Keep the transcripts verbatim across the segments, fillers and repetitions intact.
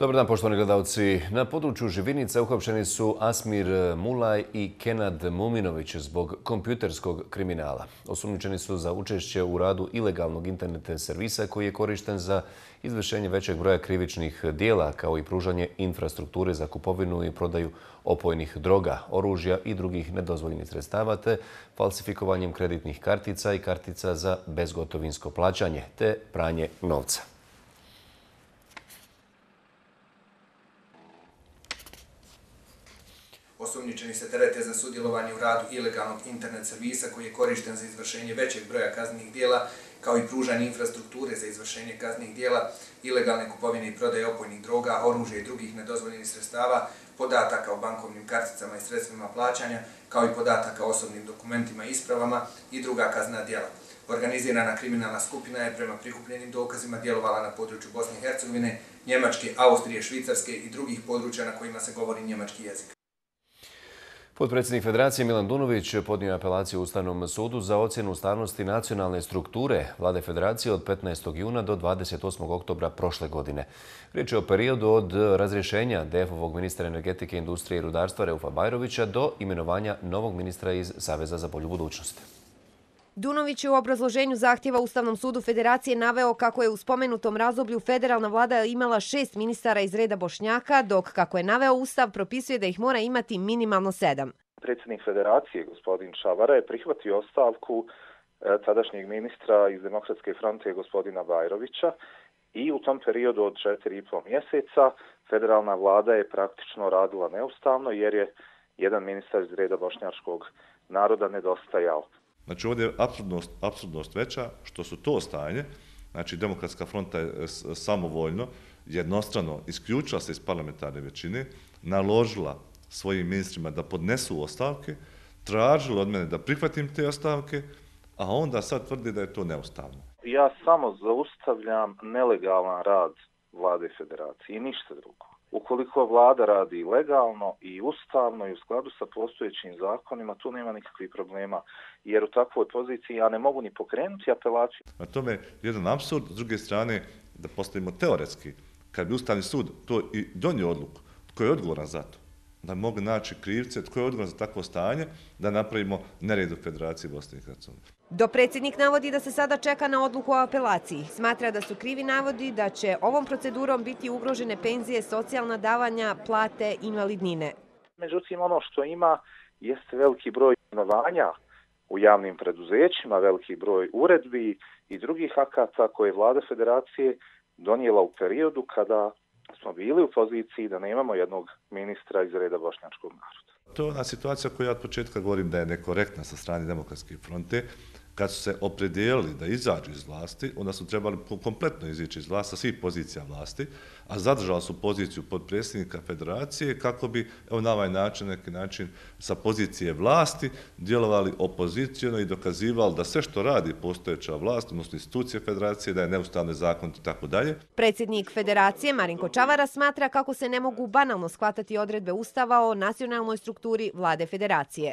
Dobar dan, poštovani gledalci. Na području Živinica uhapšeni su Asmir Mulaj i Kenad Muminović zbog kompjuterskog kriminala. Osumnjičeni su za učešće u radu ilegalnog internet servisa koji je korišten za izvršenje većeg broja krivičnih dijela, kao i pružanje infrastrukture za kupovinu i prodaju opojnih droga, oružja i drugih nedozvoljenih sredstava, te falsifikovanjem kreditnih kartica i kartica za bezgotovinsko plaćanje, te pranje novca. Osumnjičeni se terete za sudjelovanje u radu ilegalnog internet servisa koji je korišten za izvršenje većeg broja kaznenih dijela, kao i pružanje infrastrukture za izvršenje kaznenih dijela, ilegalne kupovine i prodaje opojnih droga, oružja i drugih nedozvoljenih sredstava, podataka o bankovnim karticama i sredstvima plaćanja, kao i podataka o osobnim dokumentima i ispravama i druga kaznena dijela. Organizirana kriminalna skupina je prema prikupljenim dokazima djelovala na području Bosne i Hercegovine, Njemačke, Austrije, Švicarske i drugih područja na kojima se govori njemački jezik. Potpredsjednik Federacije Milan Dunović podnio je apelaciju Ustavnom sudu za ocjenu ustavnosti nacionalne strukture Vlade Federacije od petnaestog juna do dvadeset osmog oktobra prošle godine. Riječ je o periodu od razrješenja D F-ovog ministra energetike, industrije i rudarstva Reufa Bajrovića do imenovanja novog ministra iz Saveza za bolju budućnost. Dunović je u obrazloženju zahtjeva Ustavnom sudu Federacije naveo kako je u spomenutom razdoblju federalna vlada imala šest ministara iz reda Bošnjaka, dok, kako je naveo Ustav, propisuje da ih mora imati minimalno sedam. Predsjednik Federacije, gospodin Šavara, je prihvatio ostavku tadašnjeg ministra iz Demokratske fronte, gospodina Bajrovića, i u tom periodu od četiri i pol mjeseca federalna vlada je praktično radila neustavno jer je jedan ministar iz reda bošnjačkog naroda nedostajao. Znači ovdje je apsurdnost, apsurdnost veća što su to stanje, znači Demokratska fronta je samovoljno, jednostrano isključila se iz parlamentarne većine, naložila svojim ministrima da podnesu ostavke, tražila od mene da prihvatim te ostavke, a onda sad tvrdi da je to neustavno. Ja samo zaustavljam nelegalan rad Vlade Federacije i ništa drugo. Ukoliko vlada radi legalno i ustavno i u skladu sa postojećim zakonima, tu nema nikakvih problema, jer u takvoj poziciji ja ne mogu ni pokrenuti apelaciju. Na tome je jedan apsurd, s druge strane, da postavimo teoretski, kad bi Ustavni sud to i donio odluku, tko je odgovoran za to, da mogu naći krivce, tko je odgovoran za takvo stanje, da napravimo nered u Federaciji Bosne i Hercegovine. Dopredsjednik navodi da se sada čeka na odluku o apelaciji. Smatra da su krivi navodi da će ovom procedurom biti ugrožene penzije, socijalna davanja, plate, invalidnine. Međutim, ono što ima jeste veliki broj imenovanja u javnim preduzećima, veliki broj uredbi i drugih akata koje je Vlada Federacije donijela u periodu kada smo bili u poziciji da nemamo jednog ministra iz reda bošnjačkog naroda. To je ona situacija koju ja od početka govorim da je nekorektna sa strane Demokratske fronte. Kad su se opredijelili da izađu iz vlasti, onda su trebali kompletno izići iz vlasti sa svih pozicija vlasti, a zadržali su poziciju podpredsjednika Federacije kako bi evo, na ovaj način, neki način, sa pozicije vlasti djelovali opozicijono i dokazivali da sve što radi postojeća vlast, odnosno institucije Federacije, da je neustavno, zakonito i tako dalje. Predsjednik Federacije Marinko Čavara smatra kako se ne mogu banalno shvatati odredbe Ustava o nacionalnoj strukturi Vlade Federacije.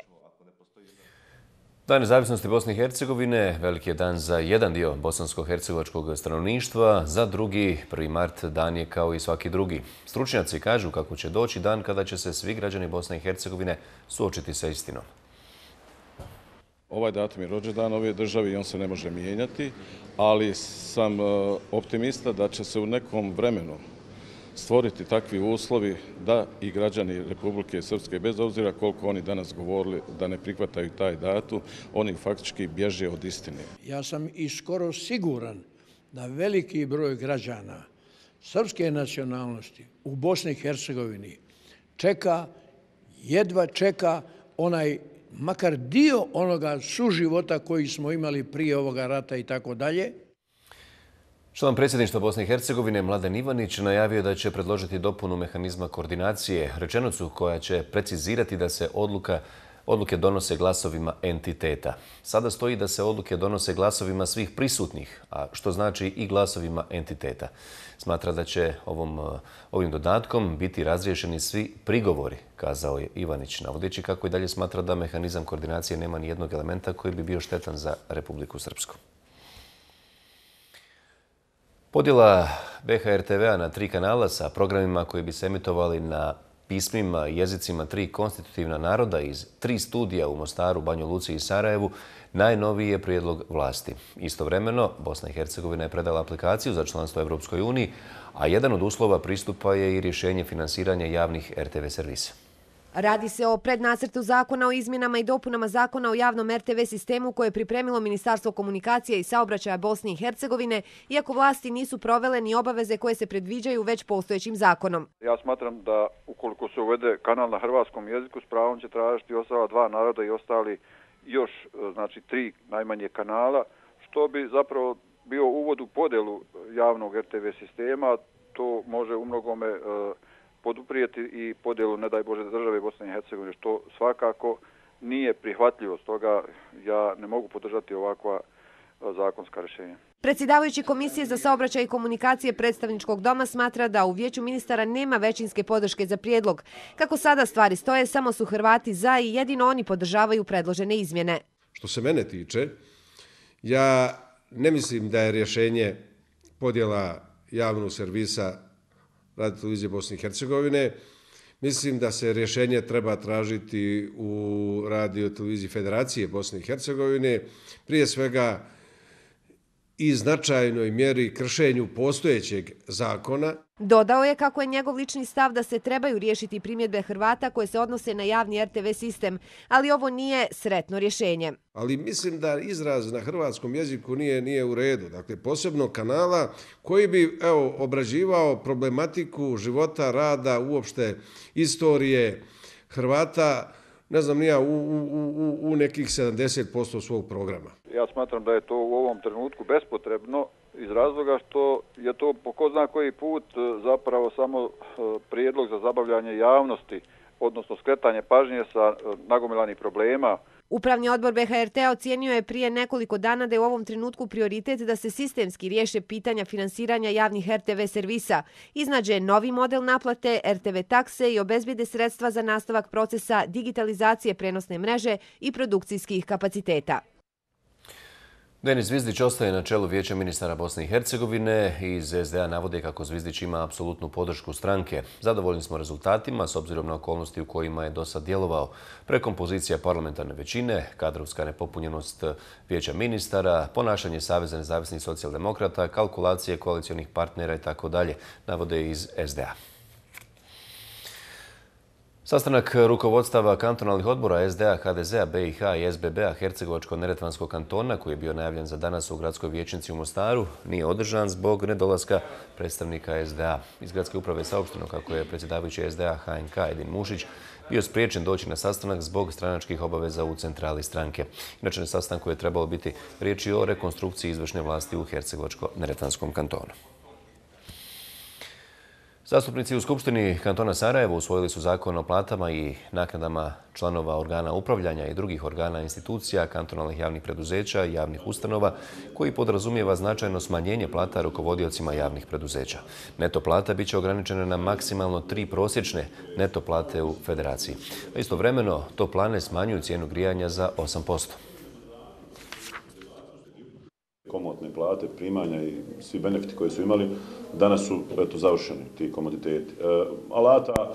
Dan nezavisnosti Bosne i Hercegovine veliki je dan za jedan dio bosansko-hercegovačkog stanovništva, za drugi, prvi mart, dan je kao i svaki drugi. Stručnjaci kažu kako će doći dan kada će se svi građani Bosne i Hercegovine suočiti sa istinom. Ovaj datum je rođendan ove države i on se ne može mijenjati, ali sam optimista da će se u nekom vremenu stvoriti takvi uslovi da i građani Republike Srpske, bez obzira koliko oni danas govorili da ne prihvataju taj datum, oni faktički bježe od istine. Ja sam i skoro siguran da veliki broj građana srpske nacionalnosti u Bosni i Hercegovini čeka, jedva čeka onaj makar dio onoga suživota koji smo imali prije ovoga rata i tako dalje. Član predsjedništva Bosne i Hercegovine Mladen Ivanić najavio da će predložiti dopunu mehanizma koordinacije, rečenicu koja će precizirati da se odluka, odluke donose glasovima entiteta. Sada stoji da se odluke donose glasovima svih prisutnih, a što znači i glasovima entiteta. Smatra da će ovom, ovim dodatkom biti razriješeni svi prigovori, kazao je Ivanić, navodeći kako i dalje smatra da mehanizam koordinacije nema ni jednog elementa koji bi bio štetan za Republiku Srpsku. Podjela B H R T V-a na tri kanala sa programima koji bi se emitovali na pismima i jezicima tri konstitutivna naroda iz tri studija u Mostaru, Banju Luci i Sarajevu najnoviji je prijedlog vlasti. Istovremeno, Bosna i Hercegovina je predala aplikaciju za članstvo Evropskoj uniji, a jedan od uslova pristupa je i rješenje finansiranja javnih R T V servisa. Radi se o prednacrtu zakona o izmjenama i dopunama zakona o javnom R T V sistemu koje je pripremilo Ministarstvo komunikacije i saobraćaja Bosne i Hercegovine, iako vlasti nisu provele ni obaveze koje se predviđaju već postojećim zakonom. Ja smatram da ukoliko se uvede kanal na hrvatskom jeziku, s pravom će tražiti ostala dva naroda i ostali još, znači, tri najmanje kanala, što bi zapravo bio uvod u podjelu javnog R T V sistema. To može u mnogome poduprijeti i podjelu, ne daj Bože, države Bosne i Hercegovine, što svakako nije prihvatljivo. Stoga ja ne mogu podržati ovakva zakonska rješenja. Predsjedavajući Komisije za saobraćaj i komunikacije Predstavničkog doma smatra da u Vijeću ministara nema većinske podrške za prijedlog. Kako sada stvari stoje, samo su Hrvati za i jedino oni podržavaju predložene izmjene. Što se mene tiče, ja ne mislim da je rješenje podjela javnog servisa Radio televizije Bosne i Hercegovine. Mislim da se rješenje treba tražiti u Radio televiziji Federacije Bosne i Hercegovine, prije svega i značajnoj mjeri kršenju postojećeg zakona. Dodao je kako je njegov lični stav da se trebaju riješiti primjedbe Hrvata koje se odnose na javni R T V sistem, ali ovo nije sretno rješenje. Ali mislim da izraz na hrvatskom jeziku nije, nije u redu. Dakle, posebno kanala koji bi, evo, obrađivao problematiku života, rada, uopšte istorije Hrvata, ne znam nija, u, u, u, u nekih sedamdeset posto svog programa. Ja smatram da je to u ovom trenutku bespotrebno iz razloga što je to po ko zna koji put zapravo samo prijedlog za zabavljanje javnosti, odnosno skretanje pažnje sa nagomilanih problema. Upravni odbor B H R T ocijenio je prije nekoliko dana da je u ovom trenutku prioritet da se sistemski riješe pitanja finansiranja javnih R T V servisa, iznađe novi model naplate, R T V takse i obezbijede sredstva za nastavak procesa digitalizacije prenosne mreže i produkcijskih kapaciteta. Denis Zvizdić ostaje na čelu Vijeća ministara Bosne i Hercegovine. Iz S D A navode kako Zvizdić ima apsolutnu podršku stranke. Zadovoljni smo rezultatima s obzirom na okolnosti u kojima je do sad djelovao. Prekompozicija parlamentarne većine, kadrovska nepopunjenost Vijeća ministara, ponašanje Saveza nezavisnih socijaldemokrata, kalkulacije koalicionih partnera i tako dalje, navode iz S D A. Sastanak rukovodstava kantonalnih odbora S D A, H D Z-a, B i H i S B B-a Hercegovačko-neretvanskog kantona, koji je bio najavljen za danas u gradskoj vijećnici u Mostaru, nije održan zbog nedolaska predstavnika S D A. Iz gradske uprave je saopšteno kako je predsjedavajući S D A H N K Edin Mušić bio spriječen doći na sastanak zbog stranačkih obaveza u centrali stranke. Inače, na sastanku je trebalo biti riječi o rekonstrukciji izvršne vlasti u Hercegovačko-neretvanskom kantonu. Zastupnici u Skupštini kantona Sarajevo usvojili su zakon o platama i naknadama članova organa upravljanja i drugih organa institucija, kantonalnih javnih preduzeća i javnih ustanova, koji podrazumijeva značajno smanjenje plata rukovodiocima javnih preduzeća. Neto plata biće ograničena na maksimalno tri prosječne neto plate u federaciji. Istovremeno, toplane smanjuju cijenu grijanja za osam posto. Komotne plate, primanja i svi benefiti koji su imali, danas su eto, završeni ti komoditeti. E, alata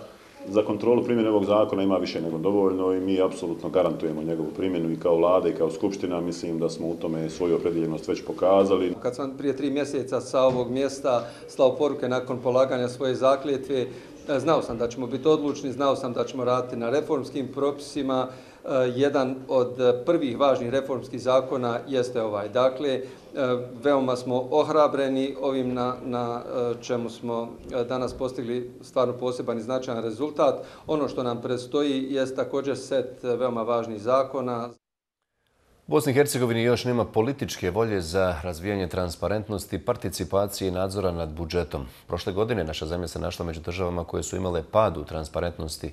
za kontrolu primjene ovog zakona ima više nego dovoljno i mi apsolutno garantujemo njegovu primjenu i kao vlada i kao skupština. Mislim da smo u tome svoju opredjeljenost već pokazali. Kad sam prije tri mjeseca sa ovog mjesta slao poruke nakon polaganja svoje zakletve, znao sam da ćemo biti odlučni, znao sam da ćemo raditi na reformskim propisima. Jedan od prvih važnih reformskih zakona jeste ovaj. Dakle, veoma smo ohrabreni ovim na, na čemu smo danas postigli stvarno poseban i značajan rezultat. Ono što nam predstoji jest također set veoma važnih zakona. U Bosni i Hercegovini još nema političke volje za razvijanje transparentnosti, participacije i nadzora nad budžetom. Prošle godine naša zemlja se našla među državama koje su imale pad u transparentnosti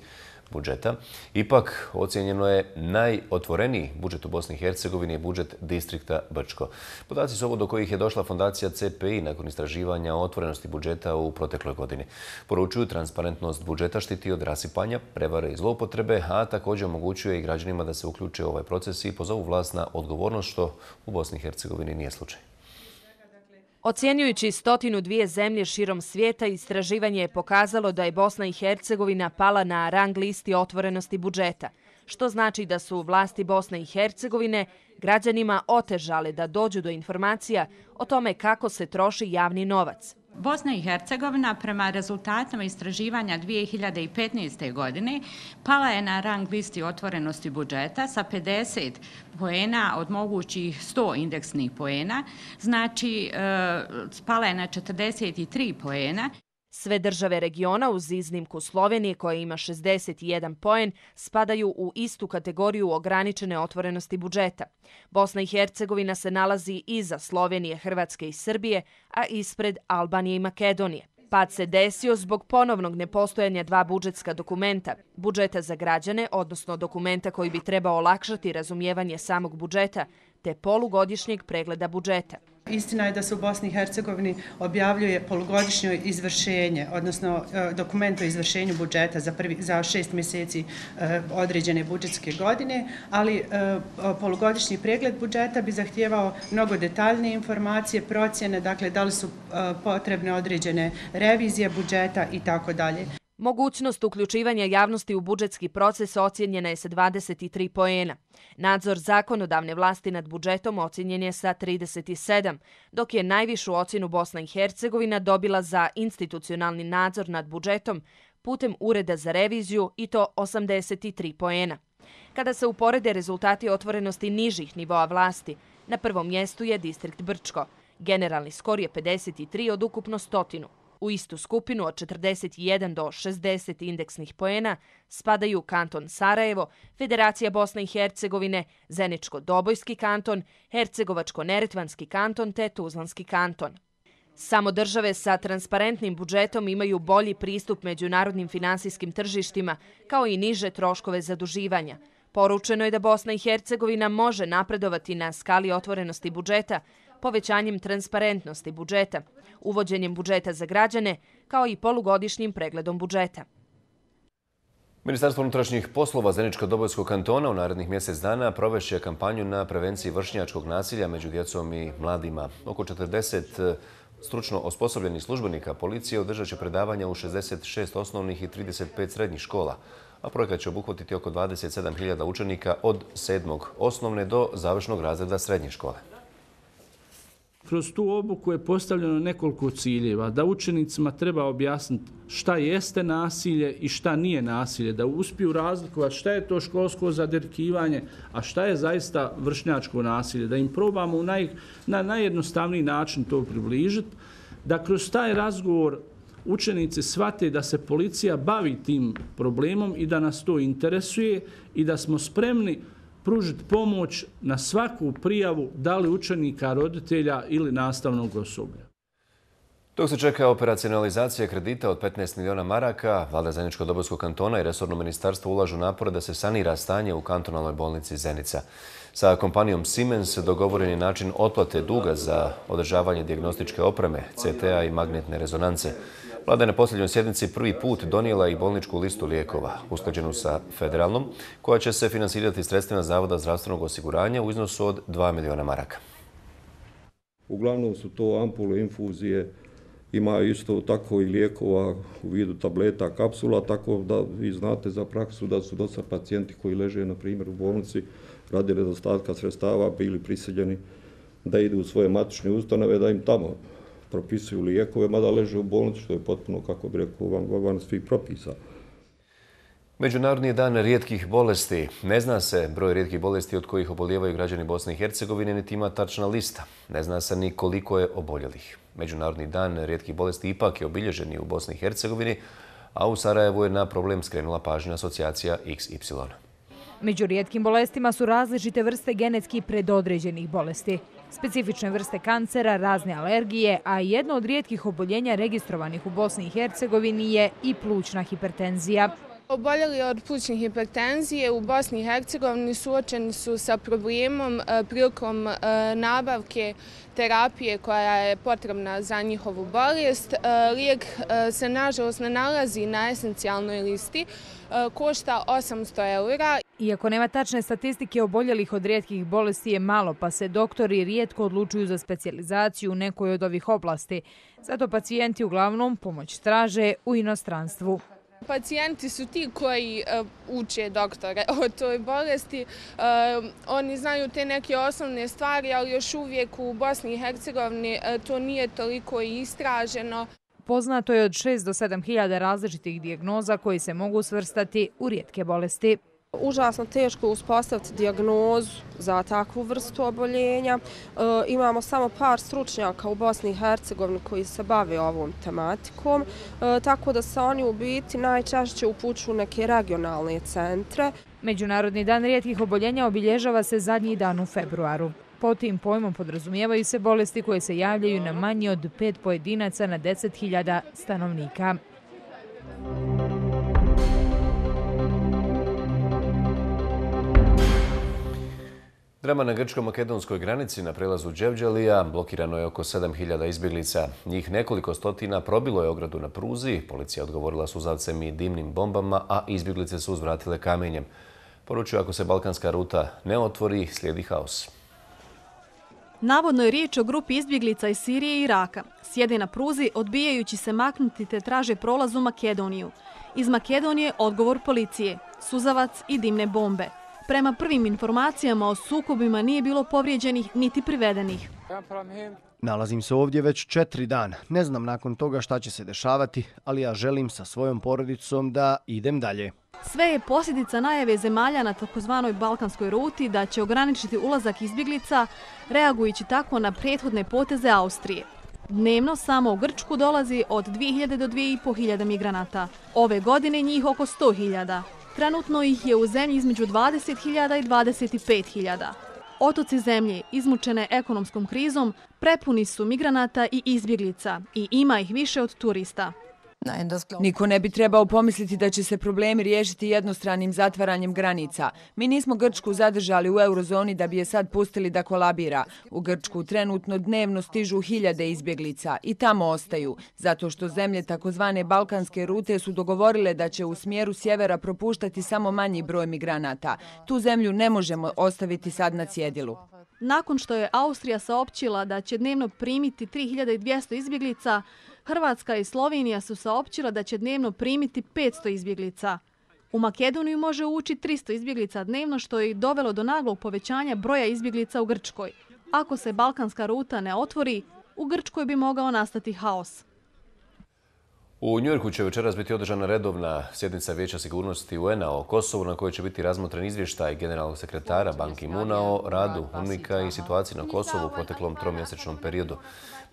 budžeta. Ipak, ocijenjeno je najotvoreniji budžet u Bosni i Hercegovini je budžet distrikta Brčko. Podaci su ovo do kojih je došla fondacija C P I nakon istraživanja o otvorenosti budžeta u protekloj godini. Poručuju, transparentnost budžeta štiti od rasipanja, prevare i zloupotrebe, a također omogućuje i građanima da se uključe u ovaj proces i pozovu vlast na odgovornost, što u Bosni i Hercegovini nije slučaj. Ocjenjujući stotinu dvije zemlje širom svijeta, istraživanje je pokazalo da je Bosna i Hercegovina pala na rang listi otvorenosti budžeta, što znači da su vlasti Bosne i Hercegovine građanima otežale da dođu do informacija o tome kako se troši javni novac. Bosna i Hercegovina prema rezultatima istraživanja dvije hiljade petnaeste. godine pala je na rang listi otvorenosti budžeta sa pedeset poena od mogućih sto indeksnih poena, znači pala je na četrdeset tri poena. Sve države regiona, uz iznimku Slovenije koja ima šezdeset jedan poen, spadaju u istu kategoriju ograničene otvorenosti budžeta. Bosna i Hercegovina se nalazi iza Slovenije, Hrvatske i Srbije, a ispred Albanije i Makedonije. Pad se desio zbog ponovnog nepostojanja dva budžetska dokumenta, budžeta za građane, odnosno dokumenta koji bi trebao olakšati razumijevanje samog budžeta, te polugodišnjeg pregleda budžeta. Istina je da se u Bosni i Hercegovini objavljuje polugodišnje izvršenje, odnosno dokument o izvršenju budžeta za, prvi, za šest mjeseci određene budžetske godine, ali polugodišnji pregled budžeta bi zahtijevao mnogo detaljne informacije, procjene, dakle da li su potrebne određene revizije budžeta i tako dalje. Mogućnost uključivanja javnosti u budžetski proces ocjenjena je sa dvadeset tri poena. Nadzor zakonodavne vlasti nad budžetom ocjenjen je sa trideset sedam, dok je najvišu ocjenu Bosna i Hercegovina dobila za institucionalni nadzor nad budžetom putem Ureda za reviziju i to osamdeset tri poena. Kada se uporede rezultati otvorenosti nižih nivoa vlasti, na prvom mjestu je distrikt Brčko. Generalni skor je pedeset tri od ukupno stotinu. U istu skupinu od četrdeset jedan do šezdeset indeksnih poena spadaju kanton Sarajevo, Federacija Bosne i Hercegovine, Zeničko-Dobojski kanton, Hercegovačko-Neretvanski kanton te Tuzlanski kanton. Samo države sa transparentnim budžetom imaju bolji pristup međunarodnim finansijskim tržištima, kao i niže troškove zaduživanja. Poručeno je da Bosna i Hercegovina može napredovati na skali otvorenosti budžeta, povećanjem transparentnosti budžeta, uvođenjem budžeta za građane, kao i polugodišnjim pregledom budžeta. Ministarstvo unutrašnjih poslova Zeničko-Dobojskog kantona u narednih mjesec dana provešće kampanju na prevenciji vršnjačkog nasilja među djecom i mladima. Oko četrdeset stručno osposobljenih službenika policije održat će predavanja u šezdeset šest osnovnih i trideset pet srednjih škola, a projekat će obuhvatiti oko dvadeset sedam hiljada učenika od sedmog osnovne do završnog razreda srednje škole. Kroz tu obuku je postavljeno nekoliko ciljeva, da učenicima treba objasniti šta jeste nasilje i šta nije nasilje, da uspiju razlikovati šta je to školsko zadirkivanje, a šta je zaista vršnjačko nasilje, da im probamo u naj, na najjednostavniji način to približiti, da kroz taj razgovor učenici shvate da se policija bavi tim problemom i da nas to interesuje i da smo spremni pružiti pomoć na svaku prijavu, da li učenika, roditelja ili nastavnog osoblja. Dok se čeka operacionalizacija kredita od petnaest miliona maraka, vlada Zeničko-Dobojskog kantona i resorno ministarstvo ulažu napore da se sanira stanje u kantonalnoj bolnici Zenica. Sa kompanijom Siemens dogovoren je način otplate duga za održavanje dijagnostičke opreme, C T A i magnetne rezonance. Vlada je na posljednjoj sjednici prvi put donijela i bolničku listu lijekova, usklađenu sa federalnom, koja će se finansirati sredstvima Zavoda zdravstvenog osiguranja u iznosu od dva miliona maraka. Uglavnom su to ampule, infuzije, ima isto tako i lijekova u vidu tableta, kapsula, tako da vi znate za praksu da su dosta pacijenti koji leže, na primjer, u bolnici radi nedostatka sredstava bili prisiljeni da idu u svoje matične ustanove, da im tamo propisuju lijekove, mada leže u bolnici, što je potpuno, kako bi rekao, van, van svih propisa. Međunarodni dan rijetkih bolesti. Ne zna se broj rijetkih bolesti od kojih obolijevaju građani Bosne i Hercegovine, niti ima tačna lista. Ne zna se ni koliko je oboljelih. Međunarodni dan rijetkih bolesti ipak je obilježen i u Bosni i Hercegovini, a u Sarajevu je na problem skrenula pažnja asocijacija X Y. Među rijetkim bolestima su različite vrste genetski predodređenih bolesti, specifične vrste kancera, razne alergije, a jedno od rijetkih oboljenja registrovanih u Bosni i Hercegovini je i plućna hipertenzija. Oboljeli od plućne hipertenzije u Bosni i Hercegovini suočeni su sa problemom prilikom nabavke terapije koja je potrebna za njihovu bolest. Lijek se nažalost ne nalazi na esencijalnoj listi, košta osamsto eura. Iako nema tačne statistike oboljelih od rijetkih bolesti je malo, pa se doktori rijetko odlučuju za specijalizaciju u nekoj od ovih oblasti. Zato pacijenti uglavnom pomoć traže u inostranstvu. Pacijenti su ti koji uh, uče doktore o toj bolesti. Uh, oni znaju te neke osnovne stvari, ali još uvijek u Bosni i Hercegovini uh, to nije toliko istraženo. Poznato je od šest do sedam hiljada različitih dijagnoza koji se mogu svrstati u rijetke bolesti. Užasno teško uspostaviti dijagnozu za takvu vrstu oboljenja. E, imamo samo par stručnjaka u Bosni i Hercegovini koji se bave ovom tematikom, e, tako da se oni u biti najčešće upućuju neke regionalne centre. Međunarodni dan rijetkih oboljenja obilježava se zadnji dan u februaru. Po tim pojmom podrazumijevaju se bolesti koje se javljaju na manje od pet pojedinaca na deset hiljada stanovnika. Drama na grčko-makedonskoj granici na prelazu Đevđelija blokirano je oko sedam hiljada izbjeglica. Njih nekoliko stotina probilo je ogradu na pruzi, policija odgovorila suzavcem i dimnim bombama, a izbjeglice su uzvratile kamenjem. Poručuju, ako se balkanska ruta ne otvori, slijedi haos. Navodno je riječ o grupi izbjeglica iz Sirije i Iraka. Sjede na pruzi, odbijajući se maknuti te traže prolaz u Makedoniju. Iz Makedonije odgovor policije, suzavac i dimne bombe. Prema prvim informacijama o sukobima nije bilo povrijeđenih niti privedenih. Nalazim se ovdje već četiri dana. Ne znam nakon toga šta će se dešavati, ali ja želim sa svojom porodicom da idem dalje. Sve je posljedica najave zemalja na takozvanoj balkanskoj ruti da će ograničiti ulazak izbjeglica, reagujući tako na prethodne poteze Austrije. Dnevno samo u Grčku dolazi od dvije hiljade do dvije i pol hiljade migranata. Ove godine njih oko sto hiljada. Trenutno ih je u zemlji između dvadeset hiljada i dvadeset pet hiljada. Otoci zemlje, izmučene ekonomskom krizom, prepuni su migranata i izbjeglica i ima ih više od turista. Niko ne bi trebao pomisliti da će se problemi riješiti jednostranim zatvaranjem granica. Mi nismo Grčku zadržali u eurozoni da bi je sad pustili da kolabira. U Grčku trenutno dnevno stižu hiljade izbjeglica i tamo ostaju, zato što zemlje takozvane balkanske rute su dogovorile da će u smjeru sjevera propuštati samo manji broj migranata. Tu zemlju ne možemo ostaviti sad na cjedilu. Nakon što je Austrija saopćila da će dnevno primiti tri hiljade dvjesto izbjeglica, Hrvatska i Slovenija su saopćila da će dnevno primiti petsto izbjeglica. U Makedoniju može ući tristo izbjeglica dnevno, što je dovelo do naglog povećanja broja izbjeglica u Grčkoj. Ako se balkanska ruta ne otvori, u Grčkoj bi mogao nastati haos. U Njujorku će večeras biti održana redovna sjednica Vijeća sigurnosti U N-a o Kosovu, na kojoj će biti razmotren izvještaj generalnog sekretara Ban Ki-moona o radu UNMIK-a i situaciji na Kosovu u proteklom tromjesečnom periodu.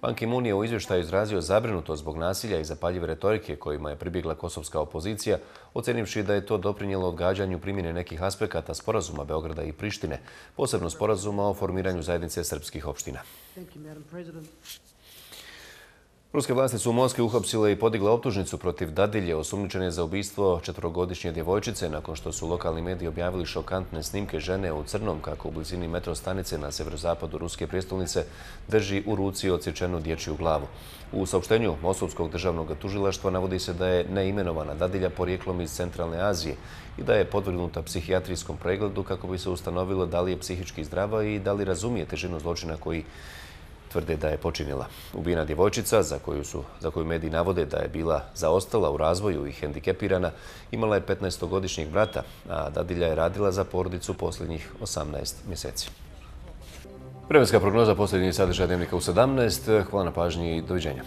Ban Ki-moon je u izvještaju izrazio zabrinutost zbog nasilja i zapaljive retorike kojima je pribjegla kosovska opozicija, ocenivši da je to doprinijelo odgađanju primjene nekih aspekata sporazuma Beograda i Prištine, posebno sporazuma o formiranju zajednice srpskih opština. Ruske vlasti su u Moskvi uhapsile i podigle optužnicu protiv dadilje osumnjičene za ubistvo četvorogodišnje djevojčice nakon što su lokalni mediji objavili šokantne snimke žene u crnom kako u blizini metro stanice na severozapadu ruske prijestolnice drži u ruci odsječenu dječju glavu. U saopštenju Moskovskog državnog tužilaštva navodi se da je neimenovana dadilja porijeklom iz Centralne Azije i da je podvrgnuta psihijatrijskom pregledu kako bi se ustanovilo da li je psihički zdrava i da li razumije težinu zločina koji tvrde da je počinila. Ubijena djevojčica, za koju, su, za koju mediji navode da je bila zaostala u razvoju i hendikepirana, imala je petnaestogodišnjeg brata, a dadilja je radila za porodicu posljednjih osamnaest mjeseci. Vremenska prognoza, posljednji sadržaj Dnevnika u sedamnaest. Hvala na pažnji i doviđenja.